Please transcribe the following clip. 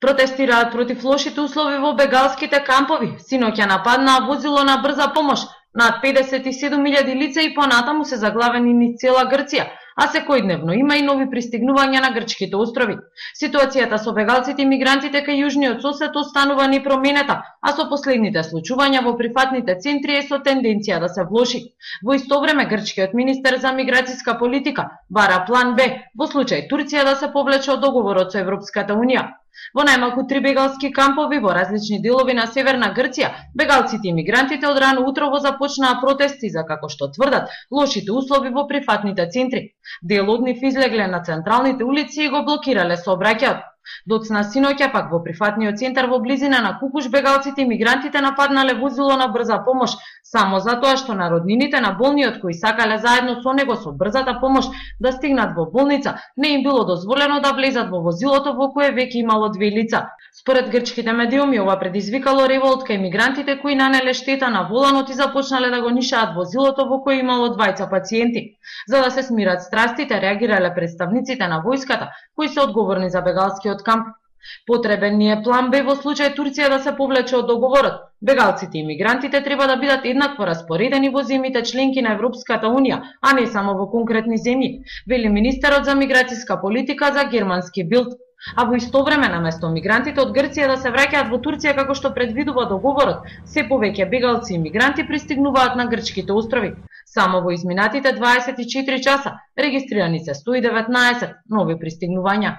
Протестираат против лошите услови во бегалските кампови. Синоќа нападнаа возило на брза помош. Над 57.000 лица и понатаму се заглавени низ цела Грција, а секојдневно има и нови пристигнувања на грчките острови. Ситуацијата со бегалците и мигрантите кај јужниот сосед останува непроменета, а со последните случувања во прифатните центри е со тенденција да се влоши. Во исто време грчкиот министер за миграцијска политика бара план Б во случај Турција да се повлече од договорот со Европската унија. Во најмалку 3 бегалски кампови во различни делови на северна Грција, бегалците и мигрантите од рано утрово започнаа протести за, како што тврдат, лошите услови во прифатните центри. Дел од нив излегле на централните улици и го блокирале сообраќајот. Доцна синоќа пак во прифатниот центар во близина на Кукуш бегалците и мигрантите нападнале возило на брза помош само затоа што на роднините на болниот кои сакале заедно со него со брзата помош да стигнат во болница, не им било дозволено да влезат во возилото во кое веќе имало 2 лица. Според грчките медиуми ова предизвикало револт кај мигрантите кои нанеле штета на воланот и започнале да го нишаат возилото во кое имало 2 пациенти. За да се смират страстите, реагирале представниците на војската кои се одговорни за бегалскиот камп. Потребен ни е план Б во случај Турција да се повлече од договорот. Бегалците и мигрантите треба да бидат еднакво распоредени во земјите членки на Европската унија, а не само во конкретни земји, вели министерот за миграцијска политика за германски Билд. А во исто време, наместо мигрантите од Грција да се враќаат во Турција како што предвидува договорот, се повеќе бегалци и мигранти пристигнуваат на грчките острови. Само во изминатите 24 часа регистрирани се 119 нови пристигнувања.